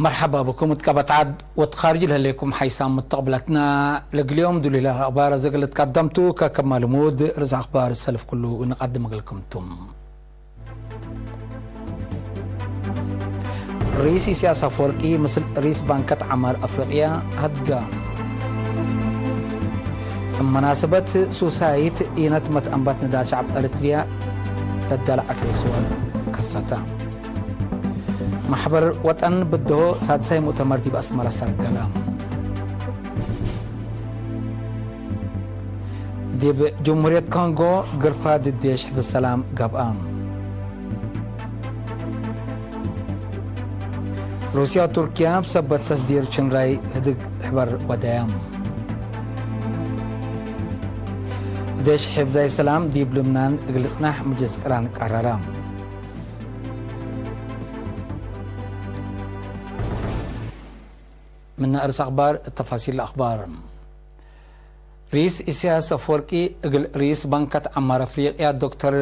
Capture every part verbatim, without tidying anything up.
መርሐባ ብኩም እት ቀበት ዐድ ወትካርጅ ለህሌኩም ሓይሳም ሙተቅብለትና። ለግል ዮም ዱሊለ አክባር አዘ እግል ትቀደምቱ፣ ከከመ ልሙድ ርእስ አክባር ሰልፍ ክሉ እንቀድም እግልኩም ቱም። ርኢስ ኢሳያስ አፈወርቂ ምስል ርኢስ ባንከት ዐማር አፍሪቅያ ሀድጋ። እብ መናሰበት ሱሳይት ኢነት መትአንባት ንዳል ሸዐብ ኤረትርያ ለዳለ ዐፌ ስወር ከሰተ። ማሕበር ወጠን ብድሆ ሳድሳይ ሙእተመር ዲብ አስመረ ሰርገለ። ዲብ ጅምሁርየት ኮንጎ ግርፋ ድዴሽ ሕፍዝ ሰላም ገብአ። ሩስያ ወቱርክያ እብ ሰበት ተስዲር ሽንራይ ህድግ ሕበር ወደያም። ዴሽ ሕፍዛይ ሰላም ዲብ ልብናን እግል ልጽናሕ ምጅልስ ቅራን ቀረረ። ምነ እርስ አክባር፣ ተፋሲል አክባር። ርኢስ ኢሳያስ አፈወርቂ እግል ርኢስ ባንከት ዐማር አፍሪቅያ ዶክተር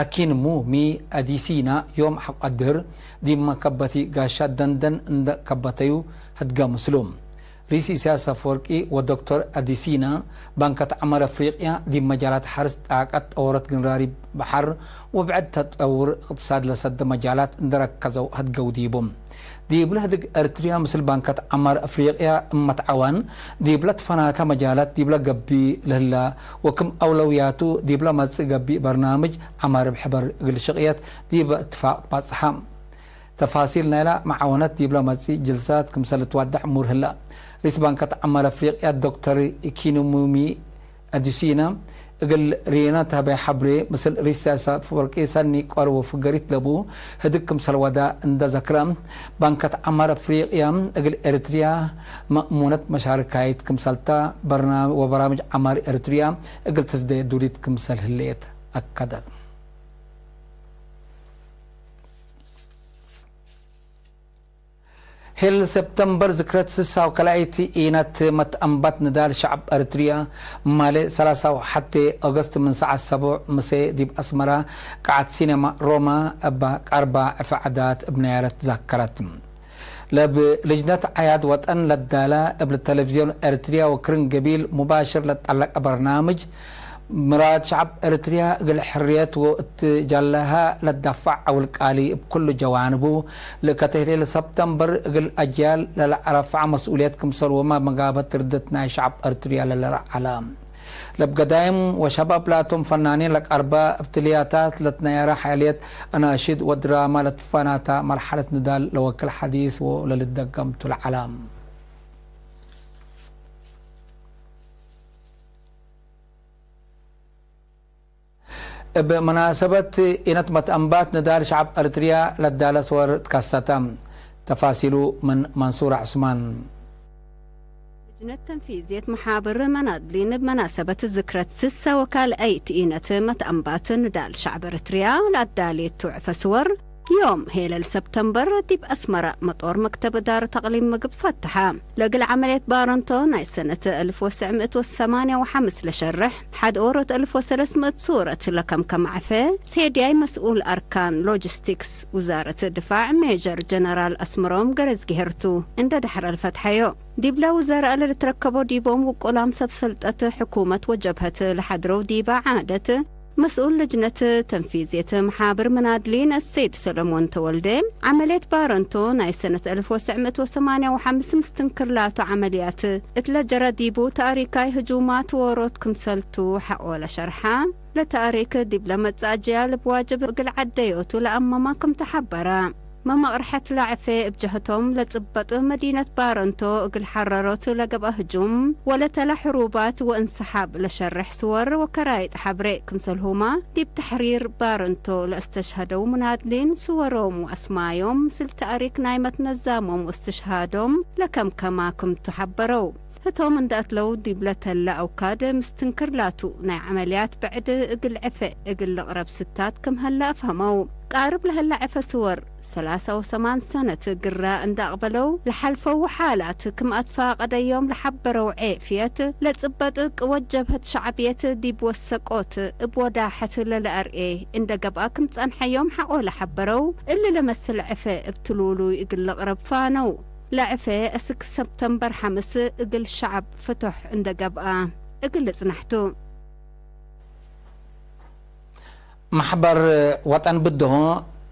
አኪን ሙሚ አዲሲና ዮም ሐቆ አድህር ዲብ መከበቲ ጋሻ ደንደን እንደ ከበተዩ ህድገ ምስሉ። ርኢስ ኢሳያስ አፈወርቂ ወዶክተር አዲሲና ባንከት ዐማር አፍሪቅያ ዲብ መጃላት ሐርስ፣ ጣቀት፣ ጠወረት ግንራሪ በሐር ወብዕድ ተጠውር እቅትሳድ ለሰደ መጃላት እንደ ረከዘው ህድገው ዲቡ። ዲብለ ህድግ ኤረትርያ ምስል ባንከት ዐማር አፍሪቅያ እመትዓዋን ዲብለ ትፈናተ መጃላት ዲብለ ገብእ ለህላ ወክም አውለውያቱ ዲብለ መጽእ ገብእ በርናምጅ ዐማር እብ ሕበር እግል ሽቅየት ዲበ እትፋቅ ትባጽሐ። ተፋሲል ናይላ መዓወነት ዲብለ መጽእ ጅልሳት ክምሰል ልትዋዳዕ እሙር ህላ። ርኢስ ባንከት ዐማር አፍሪቅያ ዶክተር ኢኪኑሙሚ አዱሲና እግል ርኢነ ተህበ ሐብሬ፣ ምስል ርኢስ ኢሳያስ አፈወርቂ ሰኒ ቀርቡ ፍገሪት ለቡ ህድግ ክምሰል ወዳ እንደ ዘክረ፣ ባንከት ዐማር አፍሪቅያ እግል ኤረትርያ መእሙነት መሻርካይት ክምሰልታ በርና-፣ ወበራምጅ ዐማር ኤረትርያ እግል ትስዴ ዱሊት ክምሰል ህሌት አከደት። ሄል ሰብተምበር ዝክረት ስሳ ወከልአይት ኢነት መትአንባት ንዳል ሸዐብ ኤረትርያ፣ ማሌ ሰላሳ ወሐቴ ኦገስት ምን ሰዓት ሰቡዕ ምሴ ዲብ አስመራ ቀዓት ሲኔማ ሮማ እበ ቀርባ ዕፈ ዐዳት እብ ነያረት ዛከረት። ለብ ልጅነት ዐያድ ወጠን ለዳለ እብ ተለቪዝዮን ኤረትርያ ወክርን ገቢል ሙባሽር ለጠለቀ በርናምጅ፣ ምራድ ሸዐብ ኤረትርያ እግል ሕርየት ወእት ጃለሃ ለዳፋዕ ዐውል ቃሊ እብ ኩሉ ጀዋንቡ፣ ለከተህሌ ለሰብተምበር እግል አጅያል ለለአረፍዐ መስኡልየት ክምሰልሁመ መጋበት ርድት ናይ ሸዐብ ኤረትርያ ለለረዐለ። ለብ ገዳይም ወሸባብ ላቶም ፈናኒን ለቀርበ፣ እብ ትልያታት ለትነየረ ሓልየት፣ አናሽድ ወድራማ ለትፈናተ መርሐለት ንዳል ለወክል ሐዲስ ወለልደገምቱ ለዐለ። እብ መናሰበት ኢነት መትአንባት ንዳል ሸዐብ ኤረትርያ ለዳለ ስወር ትከሰተ። ተፋሲሉ ምን መንሱር ዑስማን። ልጅነት ተንፊዝየት መሓብር መናድሊን እብ መናሰበት ዝክረት ስሰ ወካልአይት ኢነት መትአንባት ንዳል ሸዐብ ኤረትርያ ለአዳሌቱ ዕፈ ስወር፣ ዮም ሄለል ሰብተምበር ዲብ አስመረ መጦር መክተብ እዳረት አቅሊም ምግብ ፈትሐ። ለእግል ዐመልየት ባረንቶ ናይ ሰነት አልፍ ወትሰዕ ምእት ወሰማንያ ወሐምስ ለሸርሕ፣ ሐድ ኦሮት አልፍ ወሰለስ ምእት ሱረት ለከምከመ ዐፌ፣ ሴድያይ መስኡል አርካን ሎጂስቲክስ ውዛረት ድፋዕ ሜጀር ጀነራል አስመሮም ገረዝጊሄር ቱ፣ እንደ ደሐረ ለፈትሐዮ። ዲብለ ውዘራእ ለልትረከቦ ዲቦም ውቁላም ሰብ ሰልጠት ሕኩመት ወጀብሀት ለሐድረው ዲበ ዓደት፣ መስኡል ልጅነት ተንፊዝየት መሓብር መናድሊን አሰይድ ሰለሞን ተወልደ፣ ዐመልየት ባረንቶ ናይ ሰነት አልፍ ወትሰዕ ምእት ወሰማንያ ወሐምስ ምስትንክር ላቱ ዐመልያት እትለ ጀረ ዲቡ፣ ተእሪካይ ህጁማት ዎሮት ክምሰልቱ ሐቆ ለሸርሐ፣ ለተእሪክ ዲብለ መጽእ አጅያል እብ ዋጅብ እግል ዐደዮቱ ለአመመ ክም ተሐበረ። መመቅርሐት ለዐፌ እብ ጀህቶም ለጽበጥ መዲነት ባረንቶ እግል ሐረሮት ለገብአ ህጁም ወለተለ ሕሩባት ወእንሰሓብ ለሸርሕ ስወር ወከራይጥ ሐብሬ ክምሰልሁመ፣ ዲብ ተሕሪር ባረንቶ ለአስተሽሀደው ሙናድሊን ስወሮም ወአስማዮም ምስል ተእሪክ ናይ መትነዛሞም ወእስትሽሃዶም ለከምከማ ክምቱ ሐበረው። ህቶም እንደ አትለው ዲብለ ተለ አውካድ ምስትንክር ላቱ ናይ ዐመልያት ብዕድ እግል ዕፌ እግል ልቅረብ ስታት ክም ሀለ አፍሀመው። ቃርብ ለህለ ዕፈ ስወር ሰላሳ ወሰማን ሰነት ግረ እንደ አቅበለው ለሐልፈው ሓላት ክም አትፋቀደዮም ለሐበረው ዔፍየት ለጽበጥቅ ወጀብሀት ሸዕብየት ዲብ ወሰቆት እብ ወዳሐት ለለአርኤ እንደ ገብአ ክም ጸንሐዮም ሐቆ ለሐበረው እሊ ለመስል ዕፈ እብ ትሉሉይ እግል ልቅረብ ፋነው። ለዕፌ እስክ ሰብተምበር ሐምስ እግል ሸዐብ ፍቶሕ እንደ ገብአ እግል ልጽናሕ ቱ። መሕበር ወጠን ብድሆ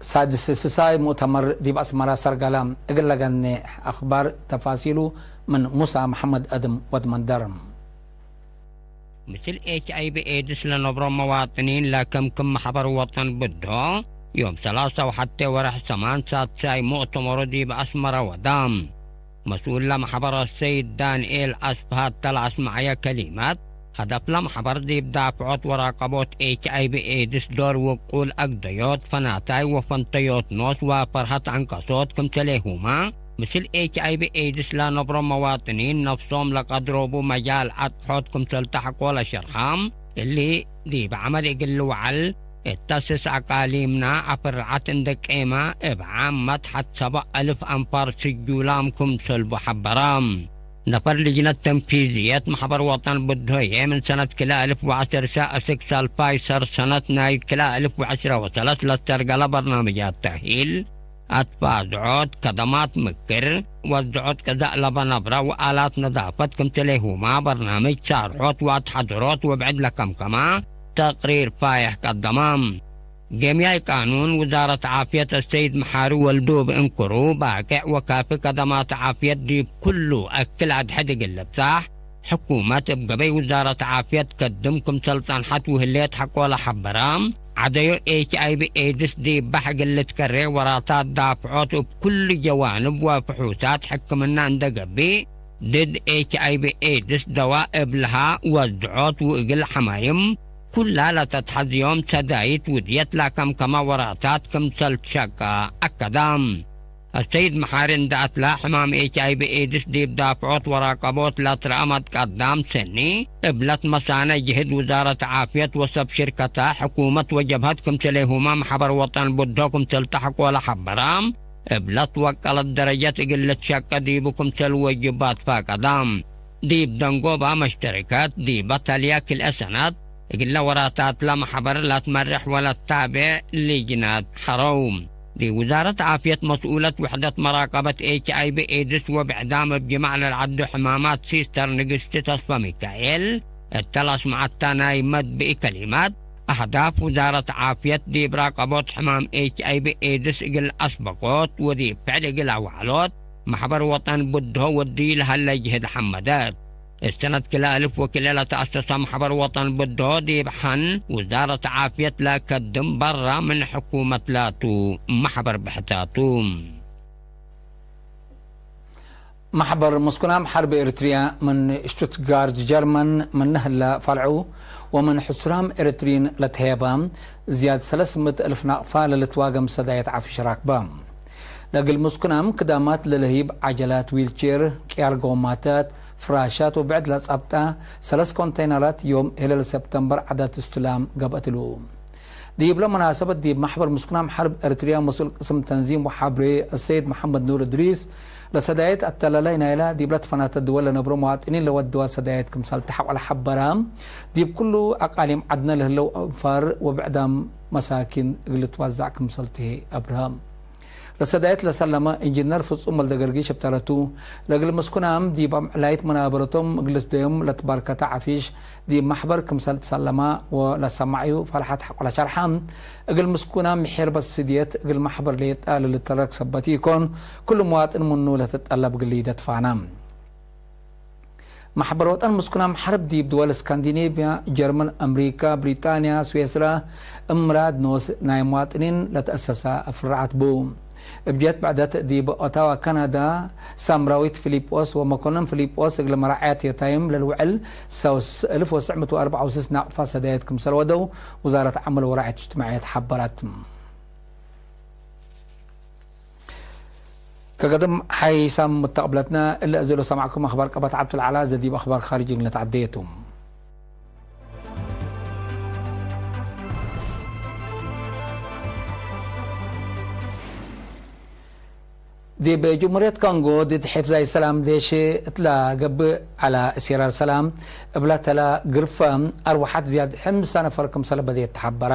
ሳድስ ስሳይ ሙእተመር ዲብ አስመራ ሰርገለ። እግል ለገኔ አኽባር ተፋሲሉ ምን ሙሳ መሐመድ አድም ወድ መንደር። ምስል ኤች አይ ቪ ኤድስ ለነብሮ መዋጥኒን ለክምክም መሕበር ወጠን ብድሆ፣ ዮም ሰላሳ ወሐቴ ወርሕ ሰማን ሳድሳይ ሙእተመሩ ዲብ አስመረ ወዳ። መስኡል ለመሕበር አሰይድ ዳንኤል አስፍሃ እተ ለአስመዐየ ከሊመት፣ ሀደፍ ለመሕበር ዲብ ዳፍዖት ወራቀቦት ኤች አይ ቪ ኤድስ ዶር ውቁል አግደዮት ፈናታይ ወፈንተዮት ኖስ ወፈርሀት ዐንቀሶት ክምሰሌሁመ፣ ምስል ኤች አይ ቪ ኤድስ ለነብሮ መዋጥኒን ነፍሶም ለቀድሮቡ መጃል አጥሖት ክምሰል ተሐቆ ለሸርሐ፣ እሊ ዲብ ዐመል እግል ልውዐል እተ ስስ አቃሊምና አፍርዐት እንደ ቄመ፣ እብ ዓመት ሐት ሰብዕ አልፍ አንፋር ስጁላም ክምሰልቡ ሐበረ። ነፈር ልጅነት ተንፊዝየት መሕበር ወጠን ብድሆዬ ምን ሰነት ክልኤ አልፍ ወዐሰርሰ እስክ ሳልፋይ ሰር ሰነት ናይ ክልኤ አልፍ ወዐስረ ወሰለስ ለተርገለ በርናምጃት ተእሂል፣ አትፋዝዖት ከደማት ምክር፣ ወዝዖት ቀዛእ ለበ ነብረ ወአላት ነዛፈት ክምሰሌሁማ በርናምጅ ሻርሖት ወአትሐደሮት ወብዕድ ለከምከመ ተቅሪር ፋይሕ ቀደመ። ጌምያይ ቃኑን ውዛረት ዓፍየት አሰይድ መሓሪ ወልዱ እብ እንክሩ፣ ባቄዕ ወካፊ ከደማት ዓፍየት ዲብ ኩሉ አክል አድሕድ እግል ልብጻሕ፣ ሕኩመት እብ ገበይ ውዛረት ዓፍየት ከድም ክምሰል ጸንሐት ውህሌት ሐቆ ለሐበረ፣ ዐደዮ ኤች አይ ቪ ኤድስ ዲብ ባሕ እግል ልትከሬ ወራታት ዳፍዖት እብ ኩሉ ጀዋንብ ወፍሑሳት ሕክምና እንደ ገብእ፣ ድድ ኤች አይ ቪ ኤድስ ደዋ እብ ለሃ ወዝዖት ወእግል ሐማይም ኩላ ለተትሐዝዮም ሰዳይት ውድየት ለከምከመ ወራታት ክምሰል ትሸቀ አከደ። አሰይድ መሓሪ እንደ አትላ፣ ሕማም ኤች አይ ቪ ኤድስ ዲብ ዳፍዖት ወራቀቦት ለትረአ መትቀዳም ሰኒ፣ እብ ለትመሳነ ጅህድ ውዛረት ዓፍየት ወሰብ ሽርከተ፣ ሕኩመት ወጀብሀት ክምሰሌሁመ መሕበር ወጠን ብድሆ ክምሰል ተሐቆ ለሐበረ፣ እብ ለትወቀለት ደረጀት እግል ልትሸቀ ዲቡ ክምሰል ወጅባት ፈቀደ። ዲብ ደንጎባ መሽተሪከት ዲበ ተልየ ክልኤ ሰነት፣ እግለ ወራታትለ መሕበር ለትመርሕ ወለትታቤዕ ልጅነት ሐረው። ዲብ ውዛረት ዓፍየት መስኡለት ውሕደት መራቀበት ኤች አይ ቪ ኤድስ ወብዕዳም እብ ጅማዕ ለልዐዱ ሕማማት ሲስተር ንግስቲ ተስፈ ሚካኤል፣ እተ ለአስመዐታ ናይ መድብኢ ከሊማት፣ አህዳፍ ውዛረት ዓፍየት ዲብ ራቀቦት ሕማም ኤች አይ ቪ ኤድስ እግል አስበቆት ወዲብ ፍዕል እግል አውዐሎት፣ መሕበር ወጠን ብድሆ ወዲ ለሀለ ጅህድ ሐመደት። እሰነት ክልኤ አልፍ ወክልኤ ለተአሰሰ መሕበር ወጠን ብድሆ ዲብ ሐን ውዛረት ዓፍየት ለከድም በራ ምን ሕኩመት ላቱ መሕበር ብሕታቱ። መሕበር ምስኩናም ሐርብ ኤሪትርያ ምን ሽቱትጋርት ጀርመን ምነ ህለ ፈልዑ ወምን ሕሱራም ኤሪትርይን ለትሄበ ዝያድ ሰለስ ምእት እልፍ ናቅፋ ለልትዋገም ሰዳየት ዓፍሽ ራክበ። ለእግል ምስኩናም ክዳማት ለለህይብ ዐጀላት፣ ዊልቼር፣ ቅያር ጎማታት፣ ፍራሻት ወብዕድ ለጸብጠ ሰለስ ኮንቴይነራት ዮም ህለል ሰብተምበር ዐዳት እስትላም ገብአት እሉ። ዲብለ መናሰበት ዲብ መሕበር ምስኩናም ሐርብ ኤሪትርያ መስኡል ቅስም ተንዚም ወሐብሬ አሰይድ መሐመድ ኑር እድሪስ፣ ለሰዳየት አተላላይ ናይላ ዲብለ ትፈናተ ድወል ለነብሮ መዋጥኒን ለወድዋ ሰዳየት ክምሰል ተሐቆ ለሐበረ፣ ዲብ ኩሉ አቃሊም ዐድነ ለህለው አንፋር ወብዕዳም መሳኪን እግል ልትዋዛዕ ክምሰል ትሄ አብርሃም። ለሰዳየት ለሰለመ ኢንጅነር ፍጹም ወልደገርጊሽ እብ ተረቱ፣ ለእግል ምስኩናም ዲብ አምዕላይት መናበረቶም እግል ልስደዮም ለትባርከተ ዐፊሽ፣ ዲብ መሕበር ክምሰል ትሰለማ ወለሰማዕዩ ፈልሐት ሐቆ ለሸርሐ፣ እግል ምስኩናም ምሒርበት ስድየት እግል መሕበር ሌጣ ለልተረክ ሰበት ኢኮን፣ ኩሉ መዋጥን ምኑ ለትጠለብ ግልይደት ፋና። መሕበር ወጠን ምስኩናም ሐርብ ዲብ ድወል እስካንዲኔቭያ፣ ጀርመን፣ አምሪካ፣ ብሪጣንያ፣ ስዌስራ፣ እምራት ኖስ ናይ መዋጥኒን ለተአሰሰ ፍራዓት ቡ። እብ ጀህት ብዕደት ዲብ ኦታዋ ካናዳ፣ ሳምራዊት ፊሊጶስ ወመኮንን ፊሊጶስ እግለ መራዕያት ዮታይም ለልውዕል ሰውስ እልፍ ወትስዕ ምእት ወአርበዕ ወስስ ናቅፋ ሰዳየት ክምሰል ወደው ውዛረት ዐመል ወራዕያት እጅትማዕየት ሐበረት። ከገድም ሓይሳም ሙተቅብለትና እለ እዜ ለሰማዕኩም አኽባር ቀበት ዐብቱ ለዐላ ዘዲብ አኽባር ካርጅ እግል ነትዐደየቱ። ዲብ ጅምሁርየት ኮንጎ ድድ ሒፍዛይ ሰላም ዴሽ እትላ ገብእ ዐለ እሲራር ሰላም እብላ ተላ ግርፈ አርወሐት ዝያድ ሕምሳ ነፈር ክምሰለ በዴት ተሐበረ።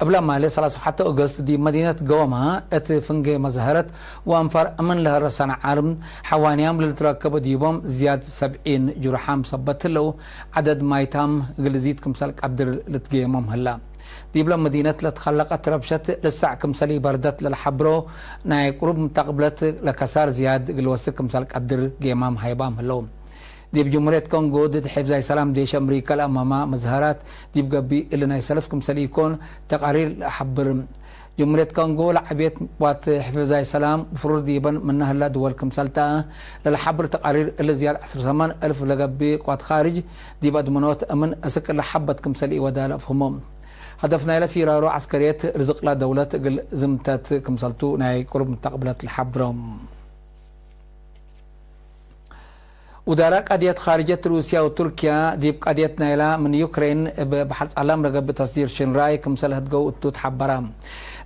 እብላ ማለ ሰላሳ ወሐተ ኦገስት ዲብ መዲነት ጎማ እት ፍንጌ መዝሀረት ወአንፋር እምን ለሀረሰነ ዓርም ሐዋንያም ለልትረከበ ዲቦም ዝያድ ሰብዒን ጅሩሓም ሰበት ህለው ዐደድ ማይታም እግል ዚድ ክምሰል ቀድር ልትጌሞም ህላ። ዲብለ መዲነት ለትከለቀት ረብሸት ልሳዕ ክምሰል ኢበርደት ለልሐብሮ ናይ ቅሩብ ምተቅብለት ለከሳር ዝያድ እግል ወስክ ክምሰል ቀድር ጌማም ሃይባም ህለው። ዲብ ጅምሁርየት ኮንጎ ድድ ሒፍዛይ ሰላም ዴሽ አምሪከ ለአማማ መዝሀራት ዲብ ገብእ እሊ ናይ ሰልፍ ክምሰል ኢኮን ተቃሪር ለአሐብር። ጅምሁርየት ኮንጎ ለዐቤት ዋት ሒፍዛይ ሰላም ፍሩር ዲበን ምነ ህላ ድወል ክምሰል ተ ለለሐብር ተቃሪር እሊ ዝያድ ዐስር ሰማን እልፍ ለገብእ ቅዋት ካርጅ ዲብ አድመኖት እምን እስክ ለሐበት ክምሰል ኢወዳ ለአፍህሞ። ሀደፍ ናይለ ፊራሮ ዐስከርየት ርዝቅላ ደውለት እግል ዝምተት ክምሰልቱ ናይ ቅሩብ ምተቅብለት ለሐብሮ። ውዳራ ቀድየት ካርጀት ሩስያ ወቱርክያ ዲብ ቀድየት ናይላ ምን ዩክሬን እብ በሐር ጸላም ለገብእ ተስዲር ሽንራይ ክምሰል ህድገው እቱ ተሐበረ።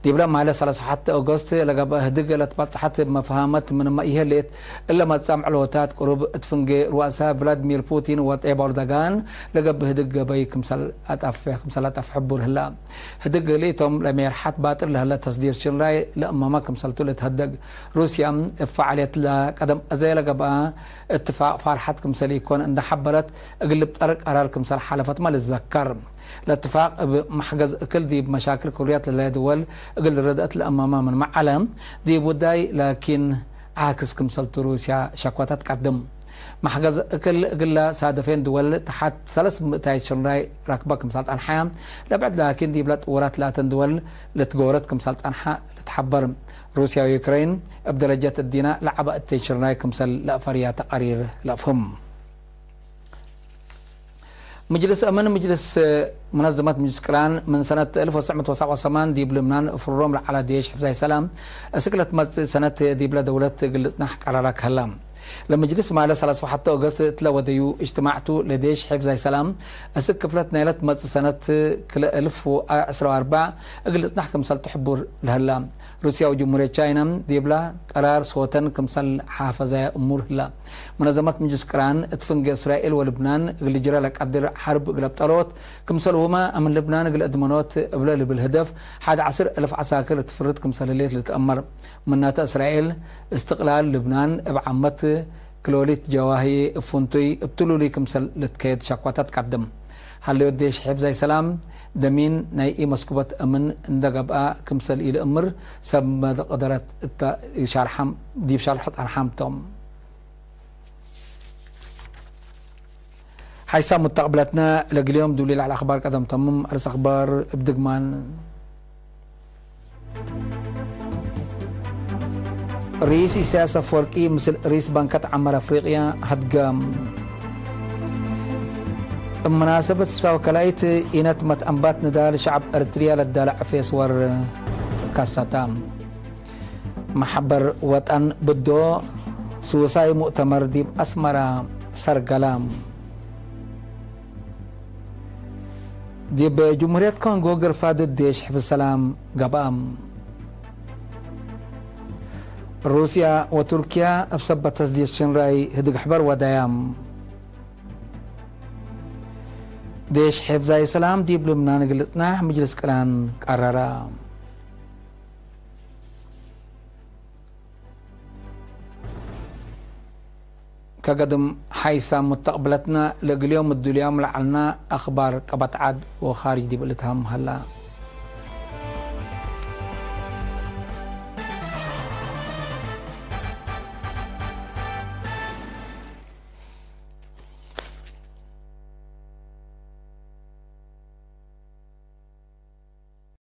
ዲብለ ማለ ሰላሳ ወሐተ ኦገስት ለገብአ ህድግ ለትበጽሐት እብ መፍሃመት ምንመ ኢህሌት፣ እለ መጻምዕ ሎታት ቅሩብ እት ፍንጌ ሩአሳ ቭላድሚር ፑቲን ወጤብ ኦርዶጋን ለገብእ ህድግ ገበይ ክምሰል አጠፍ፣ ክምሰል አጠፍ ሕቡር ህላ። ህድግ እሊቶም ለሜርሐት ባጥር ለህለ ተስዲር ሽንራይ ለእመመ ክምሰልቱ ልትሀደግ። ሩስያ እብ ፈዓልየት ለቀደም አዜ ለገብአ እትፋቅ ፋርሐት ክምሰል ኢኮን እንደ ሐበረት፣ እግል ልብጠር ቀራር ክምሰል ሓለፈትመ ልትዘከር። ለእትፋቅ እብ መሕገዝ እክል ዲብ መሻክል ክሩያት ለህለ ድወል እግል ርድአት ለእመመ ምንመ ዐለ፣ ዲብ ውዳይ ላኪን ዓክስ ክምሰልቱ ሩስያ ሸክወተ ትቀድም። መሕገዝ እክል እግለ ሳደፌን ድወል ተሐት ሰለስ ምእታይት ሽንራይ ረክበ ክምሰል ጸንሐ፣ ለብዕድ ላኪን ዲብለ ጥውራት ላተን ድወል ልትጎረት ክምሰል ጸንሐ ልትሐበር። ሩስያ ወዩክሬን እብ ደረጀት እዲነ ለዐበ እተይ ሽንራይ ክምሰል ለአፈርያ ተቃሪር ለአፍህም። ምጅልስ አምን፣ ምጅልስ፣ መነዘመት ምጅልስ ቅራን ምን ሰነት አልፍ ወትስዕ ምእት ወሰብዓ ወሰማን ዲብ ልብናን ፍሩሮም ለዐለ ዴሽ ሕፍዛይ ሰላም እስክ ለትመጽእ ሰነት ዲብለ ደውለት እግል ልጽናሕ ቀራራ ከህላ። ለምጅልስ ማለ ሰላሳ ወሐተ ኦገስት እትለ ወደዩ እጅትማዕቱ ለዴሽ ሕፍዛይ ሰላም እስክ ክፍለት ናይለ ትመጽእ ሰነት ክልኤ አልፍ ወዐስራ ወአርበዕ እግል ልጽናሕ ክምሰልቱ ሕቡር ለህላ። ሩስያ ወጅምሁርየት ቻይና ዲብላ ቀራር ሶተን ክምሰል ሓፈዛያ እሙር ህላ። መነዘመት ምጅልስ ቅራን እት ፍንጌ እስራኤል ወልብናን እግል ጅረ ለቀድር ሐርብ እግል አብጠሎት፣ ክምሰልሁመ አምን ልብናን እግል አድመኖት እብለ ልብል ህደፍ ሐድ ዐስር አልፍ ዐሳክር እት ፍርድ ክምሰል ህሌት ልትአመር። ምናተ እስራኤል እስትቅላል ልብናን እብ ዓመት ክሎሊት ጀዋሂ እብ ፍንቱይ እብ ትሉሉይ ክምሰል ልትከየድ ሸክወተ ትቀድም። ሀለዮት ዴሽ ሕፍዛይ ሰላም ደሚን ናይ ኢመስኩበት አምን እንደ ገብአ ክምሰል ኢልእምር ሰብ መቅደረት እተ ሻርሐም ዲብ ሸርሕ ጸንሐም ቶም። ሓይሳም ሙተቅብለትነ ለግል ዮም ዱሊ ለዐለ አኽባር ቀደም ተምም። አርስ አኽባር እብ ድግማን። ርኢስ ኢሳያስ አፍወርቂ ምስል ርኢስ ባንከት ዐመር አፍሪቅያ ሀድገ። እብ መናሰበት ሳወ ከላይት ኢነት መትአንባት ንዳል ሸዐብ ኤረትርያ ለዳለ ዕፌ ስወር ካሰተ። መሕበር ወጠን ብዶ ሱሳይ ሙእተመር ዲብ አስመራ ሰርገለ። ዲብ ጅምሁርየት ኮንጎ ግርፋ ድድ ዴሽ ሕፍዝ ሰላም ገብአ። ሩስያ ወቱርክያ እብ ሰበት ተስዲድ ሽንራይ ህድግ ሕበር ወደያ። ዴሽ ሕፍዛይ ሰላም ዲብ ልብናን እግል ልጽናሕ ምጅልስ ቅራን ቀረረ። ከገድም ሓይሳም ሙተቅብለትነ ለእግል ዮም እዱልያም ለዐልነ አኽባር ቀበት ዐድ ወኻርጅ ዲብ ልትሃም ሀላ።